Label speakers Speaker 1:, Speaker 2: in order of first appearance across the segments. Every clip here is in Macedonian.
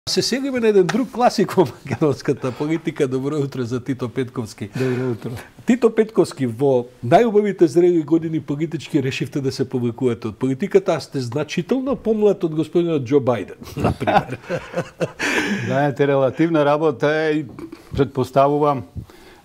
Speaker 1: Се сегаме на еден друг класик во македонската политика. Добро утро за Тито Петковски.
Speaker 2: Добро утро.
Speaker 1: Тито Петковски, во најубавите зрели години политички решивте да се повлекувате од политиката, а сте значително помлад од господинот Џо Бајден, например.
Speaker 2: Знаете, релативна работа е и предпоставувам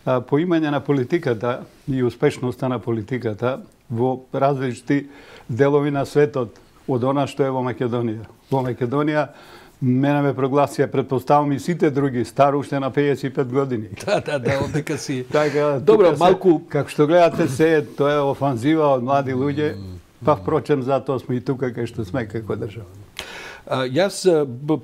Speaker 2: поимање на политиката и успешноста на политиката во различни делови на светот од она што е во Македонија. Во Македонија мене ме прогласија, предпоставам и сите други, стар уште на 55 години.
Speaker 1: Да, одека си.
Speaker 2: Така,
Speaker 1: добро, малку
Speaker 2: како што гледате се, тоа е офанзива од млади луѓе, па впрочем затоа сме и тука кај што сме како држава.
Speaker 1: Јас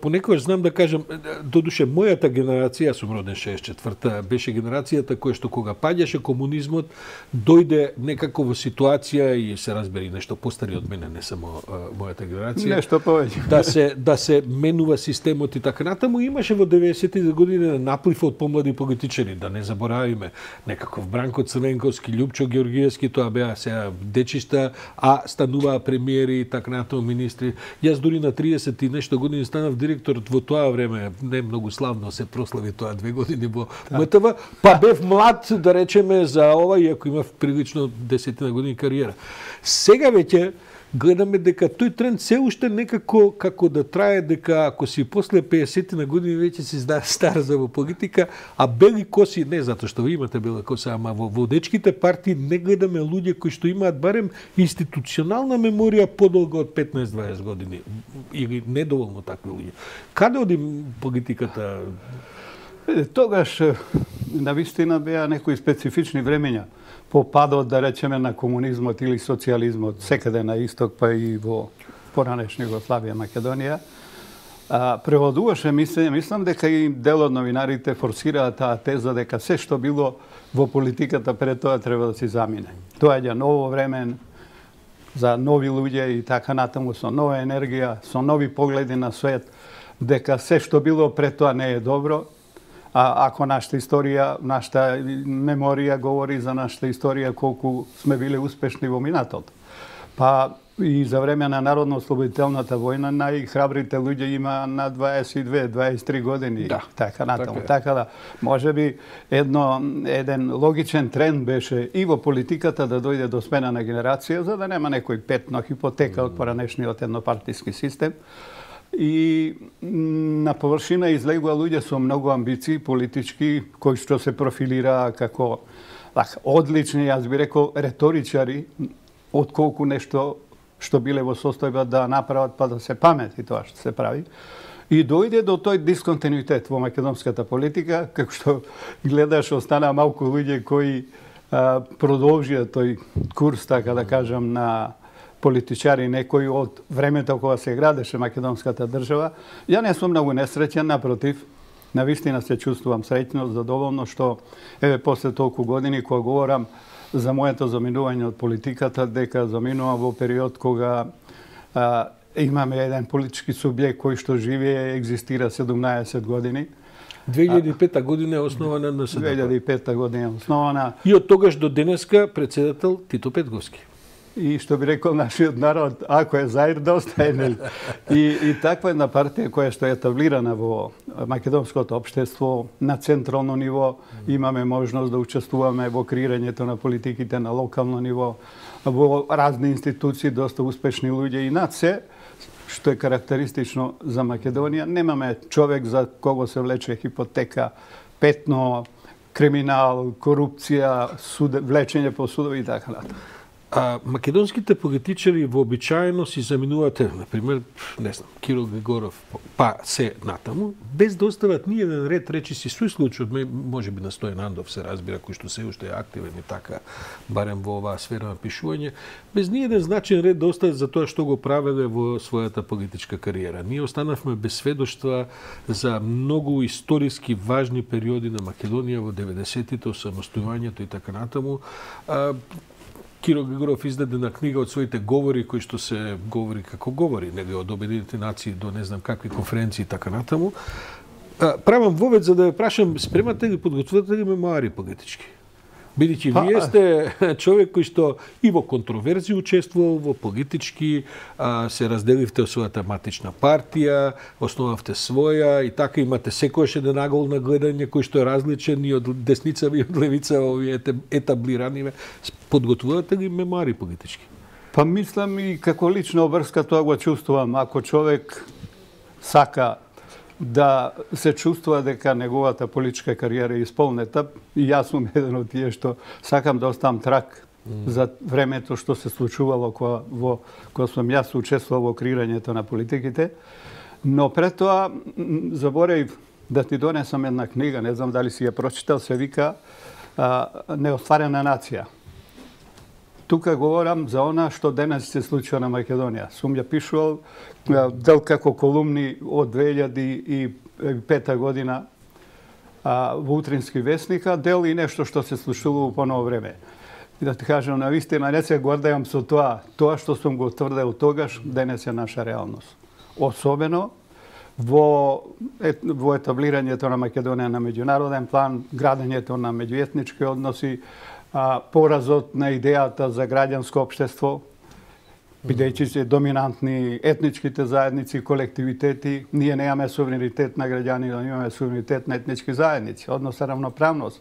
Speaker 1: понекогаш знам да кажам, додуше мојата генерација, јас сум роден 64-та, беше генерацијата која што кога паѓаше комунизмот, дојде некако во ситуација и се разбери нешто постари од мене, не само мојата генерација.
Speaker 2: Нешто повеќе.
Speaker 1: Да се менува системот и така натаму. Имаше во 90-тите години наплив од помлади политичари, да не заборавиме, некаков Бранко Црвенковски, Љупчо Георгиевски, тоа беа сега дечишта, а стануваа премиери и така натаму министри. Јас дури на 30 и нешто години станав директор во тоа време, не многу славно се прослави тоа 2 години во МТВ, па бев млад, да речеме, за ова, иако имав прилично 10 години кариера. Сега веќе гледаме дека тој тренд се уште некако како да трае, дека ако си после 50 на години веќе си стар за во политика, а бели коси, не затоа што ви имате бела коса, ама во дечките партии не гледаме луѓе кои што имаат барем институционална меморија подолго од 15-20 години или недоволно такви луѓе. Каде оди политиката?
Speaker 2: Тогаш навистина беа некои специфични времења по падот, да речеме, на комунизмот или социјализмот, секаде на исток, па и во поранешна Југославија, Македонија. Превладуваше мислење, мислам дека и дел од новинарите форсираа таа теза дека се што било во политиката пред тоа треба да се замине. Тоа е ново време за нови луѓе и така натаму, со нова енергија, со нови погледи на свет, дека се што било пред тоа не е добро. А ако нашата историја, нашата меморија говори за нашата историја колку сме биле успешни во минатото. Па и за време на Народно-ослободителната војна најхрабрите луѓе има на 22-23 години.
Speaker 1: Да,
Speaker 2: така натаму. Така да, можеби еден логичен тренд беше и во политиката да дојде до смена на генерација, за да нема некој петно хипотека од поранешниот еднопартиски систем. И на површина излегува луѓе со многу амбиции политички, кои што се профилираа како одлични, јас би рекол, реторичари, отколку нешто што биле во состојба да направат па да се памети тоа што се прави. И дојде до тој дисконтинуитет во македонската политика, како што гледаш, остана малку луѓе кои продолжија тој курс, така да кажам, на политичари, некои од времето кога се градеше македонската држава. Ја не сум многу несреќен, напротив, навистина се чувствувам среќно, задоволно што еве после толку години кога говорам за моето заминување од политиката, дека заминувам во период кога имаме еден политички субјект кој што живее, екзистира 17 години.
Speaker 1: 2005 година е основана на НСДП.
Speaker 2: 2005 година е основана.
Speaker 1: И од тогаш до денеска председател Тито Петковски.
Speaker 2: И што би рекол нашиот народ, ако е заир, да остае, нели? И таква една партија која што е етаблирана во македонското општество на централно ниво, имаме можност да учествуваме во креирањето на политиките на локално ниво, во разни институции, доста успешни луѓе и над се, што е карактеристично за Македонија, немаме човек за кого се влече хипотека, петно, криминал, корупција, влечење по судови и така натаму.
Speaker 1: Македонските политичари вообичаено си заминувате, например, не знам, Кирил Григоров, па се натаму, без да остават ни еден ред речиси, сој случај од можеби на Стојан Андов се разбира, кој што се уште е активен и така, барем во оваа сфера на пишување, без ни еден значен ред да остават за тоа што го правеле во својата политичка кариера. Ние останавме без сведоштва за многу историски важни периоди на Македонија во 90-тите, осамостојувањето и така натаму. Киро Григоров издаде на книга од своите говори, кои што се говори како говори, него од Обединетите нации до не знам какви конференции и така натаму. Правам вовед за да ве прашам, спремате ли, подготвувате ли мемуари политички? Бидејќи вие сте човек кој што и во контроверзии учествувал, во политички, се разделивте од својата матична партија, основавте своја и така имате секојаш еден агол на гледање кој што е различен и од десницава и од левица овие етаблирани. Подготвувате ли мемуари политички?
Speaker 2: Па мислам и како лична обврска тоа го чувствувам. Ако човек сака да се чувствува дека неговата политичка кариера е исполнета, и јас сум еден од тие што сакам да оставам трак за времето што се случувало кога сум јас учествувал во креирањето на политиките. Но пред тоа заборев да ти донесам една книга, не знам дали си ја прочитал, се вика Неостварена нација. Тука говорам за она што денес се случува на Македонија. Сум ја пишувал дел како колумни од 2005 година во Утрински вестник, дел и нешто што се случува по ново време. И да ти кажам, на вистина не се гордеам со тоа што сум го тврдел тогаш, денес е наша реалност. Особено во етаблирањето на Македонија на меѓународен план, градењето на меѓуетнички односи, поразот на идејата за граѓанско општество, бидејќи се доминантни етничките заедници, колективитети, ние немаме суверенитет на граѓани, но имаме суверенитет на етнички заедници, односно равноправност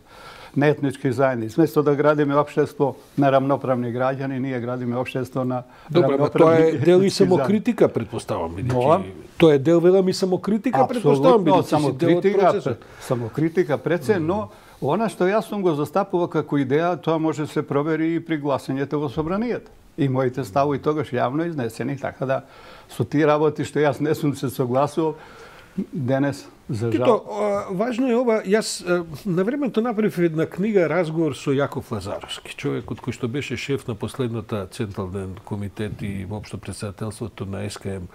Speaker 2: на етнички заедници. Вместо да градиме општество на рамноправни граѓани, ние градиме општество на рамноправни етнички заедници. Добро,
Speaker 1: тоа е дел и самокритика, предпоставам, бидејќи тоа е дел велам и самокритика, предпоставам,
Speaker 2: бидејќи самокритика пред се, но она што јас сум го застапувал како идеја, тоа може да се провери и при гласањето во собранието. И моите ставови тогаш јавно изнесени, така да со тие работи што јас не сум се согласувал, денес, за жал.
Speaker 1: Важно е ова, јас на времето направив една книга разговор со Јаков Лазаровски, човекот кој што беше шеф на последната Централен комитет и воопшто претседателството на СКМ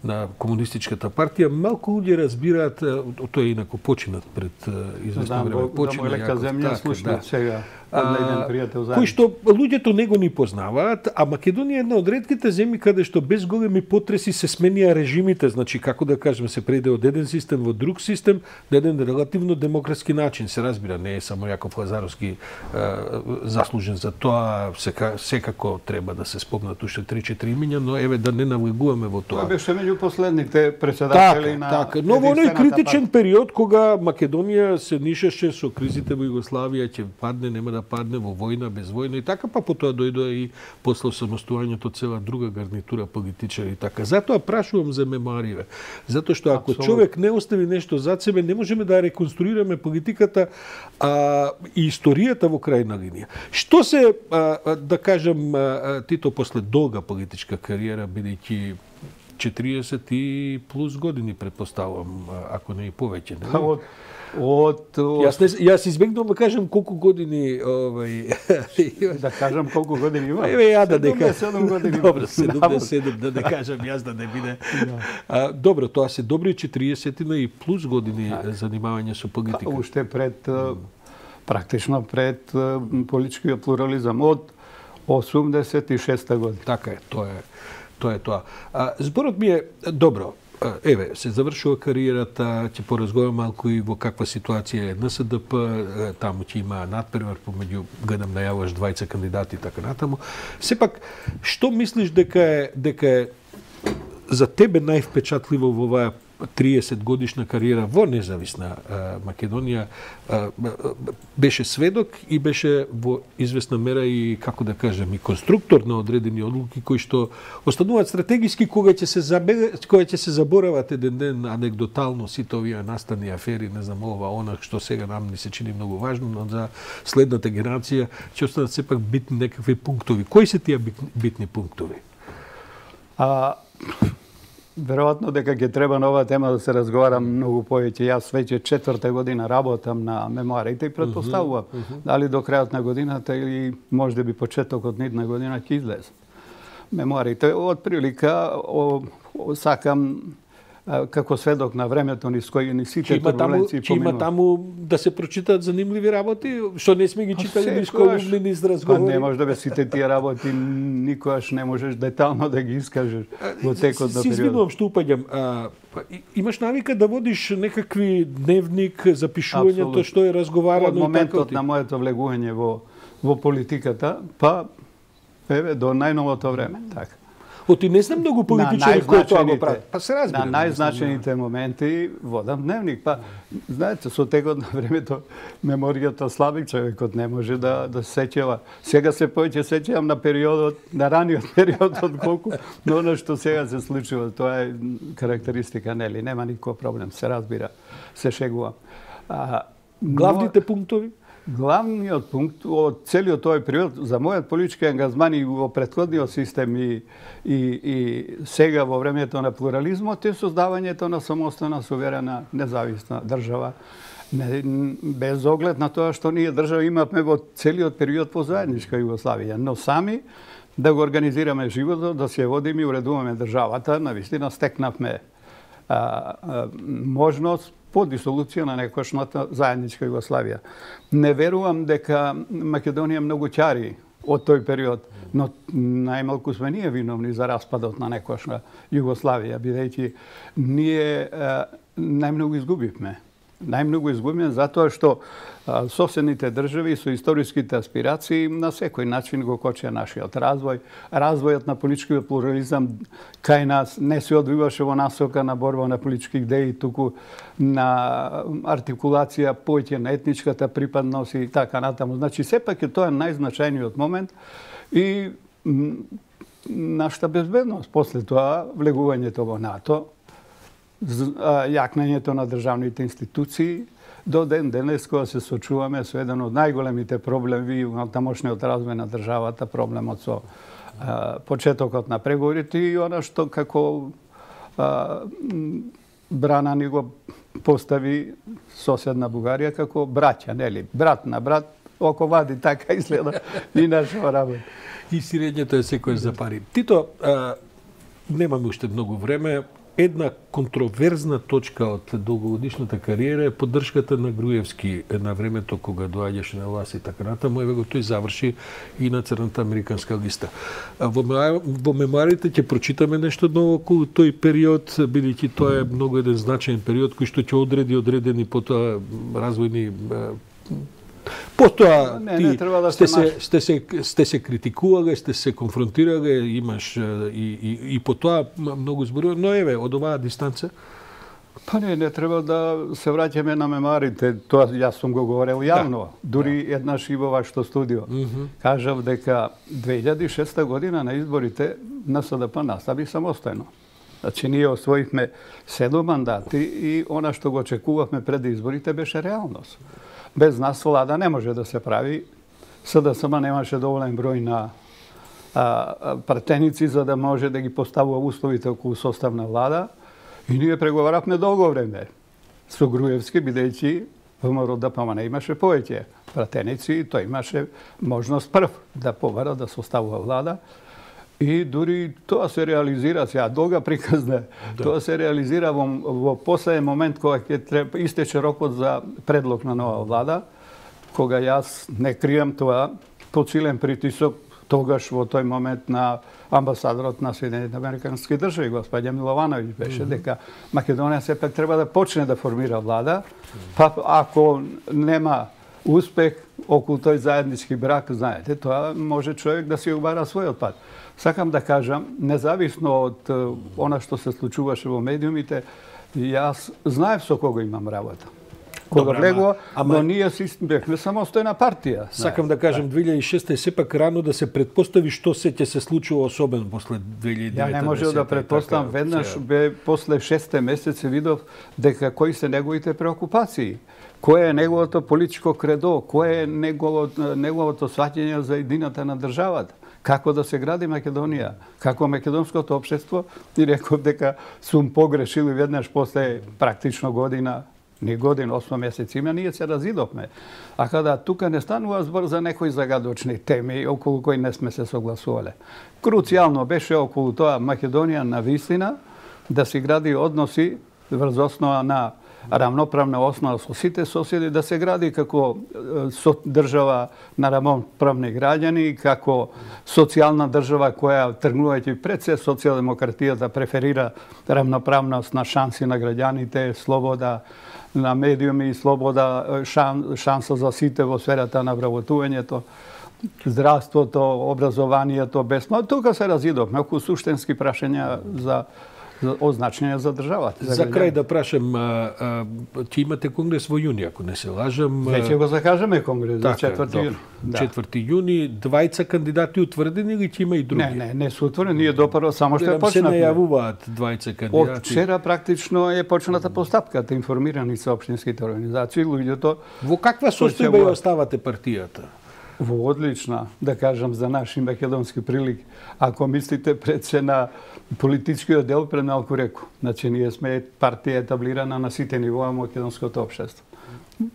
Speaker 1: на Комунистичката партија. Малку луѓе разбираат, тоа е инаку починат пред известно време.
Speaker 2: Почина Јаков, земја, слушнат сега.
Speaker 1: Кој што луѓето не го ни познаваат, а Македонија е една од ретките земји каде што без големи потреси се сменија режимите, значи како да кажеме се преде од еден систем во друг систем на еден релативно демократски начин, се разбира, не е само Јаков Лазаровски заслужен за тоа, секако треба да се спомнат уште 3-4 имиња, но еве да не навлегуваме во тоа.
Speaker 2: Тоа беше меѓу последните председатели на
Speaker 1: така, но во оној критичен период кога Македонија се нишеше со кризите во Југославија, ќе падне, нема да падне во војна, без војна и така, па потоа дојдоа и после самостојањето цела друга гарнитура политичари и така. Затоа прашувам за мемуариве. Затоа што ако човек не остави нешто зад себе, не можеме да реконструираме политиката и историјата во крајна линија. Што се, да кажем, Тито после долга политичка кариера, бидејќи 40 и плюс години, предпоставувам, ако не и повеќе. Јас избегнувам да кажам колку години,
Speaker 2: да кажам колку години има.
Speaker 1: Еве ја да дека
Speaker 2: 77 години.
Speaker 1: Добро, 77 да не кажам јас да не биде. Добро, тоа се добри 40 и плюс години занимавање со политика.
Speaker 2: Уште пред практично пред политичкиот плурализам од 86 година.
Speaker 1: Така е, тоа е тоа. Зборот ми е добро. Еве, се завршува кариерата, ќе поразговарам малку и во каква ситуација е НСДП, таму ќе има надпревар помеѓу, гледам најавуваш двајца кандидати и така натаму. Сепак, што мислиш дека е за тебе највпечатливо во оваа 30 годишна кариера во независна Македонија? Беше сведок и беше во известна мера и, како да кажем, и конструктор на одредени одлуки кои што остануваат стратегиски кога ќе се заборават еден ден анегдотално сите овие настани афери, не знам ова, она што сега нам ни се чини многу важно, но за следната генерација ќе останат сепак битни некакви пунктови. Кои се тие битни пунктови?
Speaker 2: Веројатно дека ќе треба на оваа тема да се разговара многу повеќе. Јас веќе 4-та година работам на мемуарите и претпоставувам дали до крајот на годината или можеби почетокот на идна година ќе излезе. Мемуарите од прилика сакам како сведок на времето низ кои ни сите турбуленции
Speaker 1: поминува. Има таму да се прочитаат занимливи работи, што не сме ги читали низ колумни, низ разговори.
Speaker 2: Па не може да бе сите тие работи, никогаш не можеш детално да ги искажеш во текот на период.
Speaker 1: Си извинувам што упаѓам. Имаш навика да водиш некакви дневник, запишувањето што е разговарано?
Speaker 2: Од моментот на моето влегување во во политиката, па еве до најновото време, така.
Speaker 1: Оти не знам многу политичари кои тоа го прават. Па се разбира.
Speaker 2: На најзначените моменти водам дневник. Па, знаете, со текот на времето меморијата слаби, човекот не може да се сеќава. Сега се повеќе сеќавам на периодот, на раниот период отколку но она што сега се случува. Тоа е карактеристика, нели? Нема никој проблем, се разбира, се шегувам.
Speaker 1: Главните пунктови?
Speaker 2: Главниот пункт од целиот тој период за мојот политички ангажман и во претходниот систем и сега во времето на плурализмот е создавањето на самостојна, суверена, независна држава. Без оглед на тоа што ние држава имавме во целиот период по заедничка Југославија, но сами да го организираме животот, да се водиме и уредуваме државата, навистина стекнавме можност по дисолуција на некогашната заедничка Југославија. Не верувам дека Македонија многу ќари од тој период, но најмалку сме ние виновни за распадот на некогашна Југославија, бидејќи ние најмногу изгубивме. Најмногу изгубивме затоа што соседните држави со историските аспирации на секој начин го кочија нашиот развој. Развојот на политичкиот плурализам кај нас не се одвиваше во насока на борба на политички идеи, туку на артикулација повеќе на етничката припадност и така натаму. Значи, сепак е тоа најзначајниот момент и нашата безбедност. После тоа, влегувањето во НАТО, јакнењето на државните институции, до ден денес кога се сочуваме со еден од најголемите проблеми во тамошниот развој на државата, проблемот со почетокот на преговорите и она што како брана ни го постави соседна Бугарија како браќа, нели? Брат на брат, око вади, така изгледа и нашава работа.
Speaker 1: И сирењето е секој за пари. Тито, немаме уште многу време. Една контроверзна точка од долгогодишната кариера е поддршката на Груевски на времето кога доаѓаше на власт и така натаму. Еве го тој заврши и на црната американска листа. Во мемоарите ќе прочитаме нешто ново околу тој период, бидејќи тоа е многу еден значаен период кој што ќе одреди одредени потоа развојни Потоа сте се критикувале, сте се конфронтирале, имаш и потоа многу зборува, но еве од оваа дистанца.
Speaker 2: Па не треба да се враќаме на мемоарите, тоа јас сум го говорел јавно, дури еднаш и во вашето студио. Кажав дека 2006 година на изборите НСДП настави самостојно. Значи, ние освоивме 7 мандати и она што го очекувавме пред изборите беше реалност. Без нас влада не може да се прави. СДСМ немаше доволен број на пратеници за да може да ги поставува условите околу составна влада. И ние преговаравме долго време со Груевски, бидејќи ВМРО-ДПМН не имаше повеќе пратеници и тој имаше можност прв да побара да составува влада. И дури тоа се реализира, сега долга приказна, тоа се реализира во последен момент кога ќе истече рокот за предлог на нова влада, кога јас не крием тоа, под силен притисок тогаш во тој момент на амбасадорот на Соединените американски држави, господја Миловановиќ беше, дека Македонија сепак треба да почне да формира влада, па ако нема успех околу тој заеднички брак, знаете, тоа може човек да си убара својот пат. Сакам да кажам, независно од она што се случуваше во медиумите, јас знаев со кого имам работа. Кога влегува, но ние си бевме самостојна партија.
Speaker 1: Сакам да кажам, 2006 е сепак рано да се предпостави што се ќе се случува особено после 2009.
Speaker 2: Ја не можев да предпоставам, веднаш после 6 месеци видов дека кои се неговите преокупации. Кој е неговото политичко кредо, кој е неговото сваќање за едината на државата, како да се гради Македонија, како македонското општество, и реков дека сум погрешил и веднаш после практично година, 8 месеци има, ние се разидовме. А када тука не станува збор за некои загадочни теми околу кои не сме се согласувале. Круцијално беше околу тоа Македонија на вистина да се гради односи врз основа на рамноправна основа со сите соседи, да се гради како држава на рамноправни граѓани, како социјална држава која тргнувајќи пред се социјалдемократијата преферира рамноправност на шанси на граѓаните, слобода на медиуми и слобода, шанса за сите во сферата на вработувањето. здравството, образованието, бесно. Тука се разидовме околу суштински прашања за означение за државата.
Speaker 1: За крај да прашам, ќе имате конгрес во јуни, ако не се лажам.
Speaker 2: Веќе го закажеме конгрес за 4 јуни.
Speaker 1: 4 јуни, двајца кандидати утврдени или ќе има и други?
Speaker 2: Не се утворени, ние допаро само што почнавме.
Speaker 1: Се најавуваат двајца кандидати.
Speaker 2: Од вчера практично е почната постапката, информирани се општинските организации, луѓето.
Speaker 1: Во каква состојба ја оставате партијата?
Speaker 2: Во одлична, да кажам за наши македонски прилик. Ако мислите пред се на политичкиот дел, пред малку реку. Значи, ние сме партија етаблирана на сите нивоа македонското општество.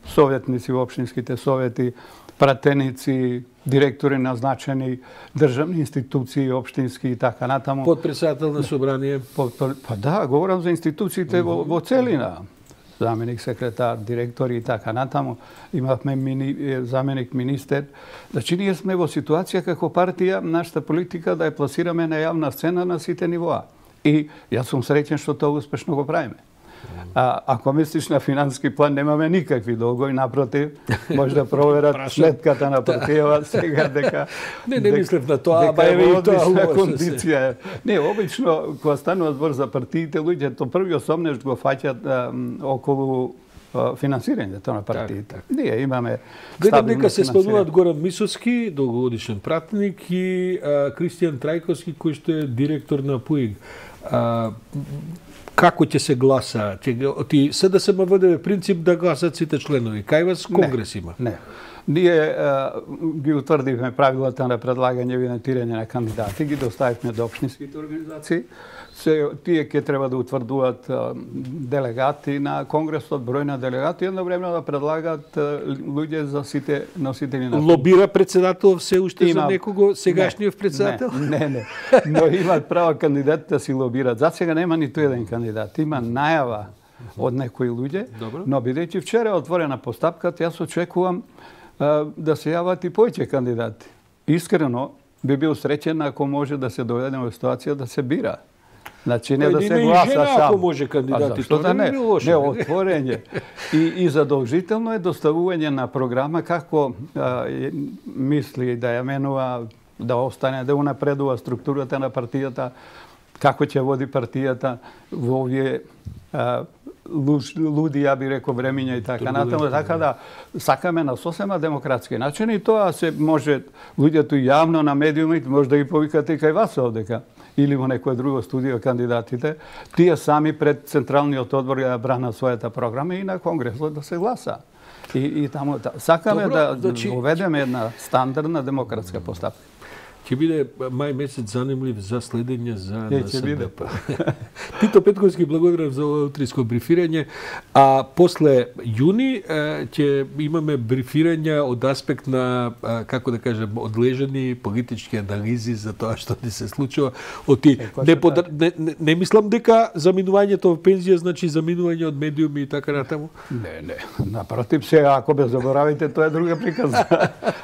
Speaker 2: Советници во општинските совети, пратеници, директори назначени, државни институции, општински и така натаму.
Speaker 1: Подпредседател на собрание?
Speaker 2: Па да, говорам за институциите во целина. Заменик секретар, директори и така натаму. Имавме заменик министер. Значи, ние сме во ситуација како партија, нашата политика да ја пласираме на јавна сцена на сите нивоа. И јас сум среќен што тоа успешно го правиме. Ако мислиш на финански план, немаме никакви долгови, напротив, може да проверат следката на партијава сега дека...
Speaker 1: Не мислев на тоа, аба еве и тоа
Speaker 2: кондиција. Не, обично, кога станува збор за партиите, луѓето првиот сомнеш го фаќат околу финансирањето на партиите. Ние имаме
Speaker 1: гледам дека се спомнуваат Горан Мисовски, долгогодишен пратеник, и Кристијан Трајковски, кој што е директор на ПУИГ. Како ќе се гласа? СДСМ води принцип да гласат сите членови. Кај вас конгрес има?
Speaker 2: Не. Ние ги утврдивме правилата на предлагање и евидентирање на кандидати, ги доставивме до општинските организации. Тие ќе треба да утврдуваат делегати на конгресот, број на делегати, едновремено да предлагат луѓе за сите носители на...
Speaker 1: Лобира председател се уште за некого, сегашниот председател?
Speaker 2: Не. Но имаат право кандидатите да си лобират. За сега нема ниту еден кандидат. Има најава од некои луѓе, но бидејќи вчера е отворена постапката, јас очекувам да се јават и повеќе кандидати. Искрено би бил среќен ако може да се доведеме во ситуација да се бира. Значи не да се гласа сам.
Speaker 1: Ако може кандидати, тоа не би лошо.
Speaker 2: Не, отворење. И задолжително е доставување на програма како мисли да ја менува, да остане, да унапредува структурата на партијата, како ќе води партијата во овие луди, ја би рекол, времиња и така натаму, така да сакаме на сосема демократски начин и тоа се може луѓето јавно на медиумите може да ги повикате и кај вас овдека или во некое друго студио кандидатите, тие сами пред Централниот одбор ја бранат својата програма и на Конгресот да се гласа. И таму сакаме да уведеме една стандардна демократска постапка.
Speaker 1: Ќе биде мај месец занимлив за следење за НСДП. Тито Петковски, благодарам за утринско брифирање. А после јуни ќе имаме брифирање од аспект на, како да кажем, одлежани политички анализи за тоа што ни се случува. Не мислам дека заминувањето во пензија значи заминување од медиуми и така натаму.
Speaker 2: Не. Напротив, сега ако бе заборавите, тоа е друга приказна.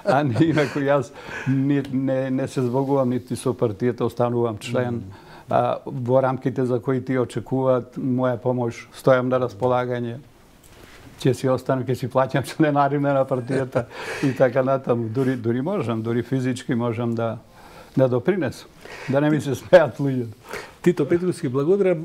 Speaker 2: А не, инако јас не се збогувам нити со партијата, останувам член. Во рамките за кои ти очекуваат моја помош, стојам на располагање. Ќе си останам, ќе си плаќам членарина на партијата и така натаму. Дури можам, дури физички можам да допринесам. Да не ми се смеат луѓето.
Speaker 1: Тито Петковски, благодарам.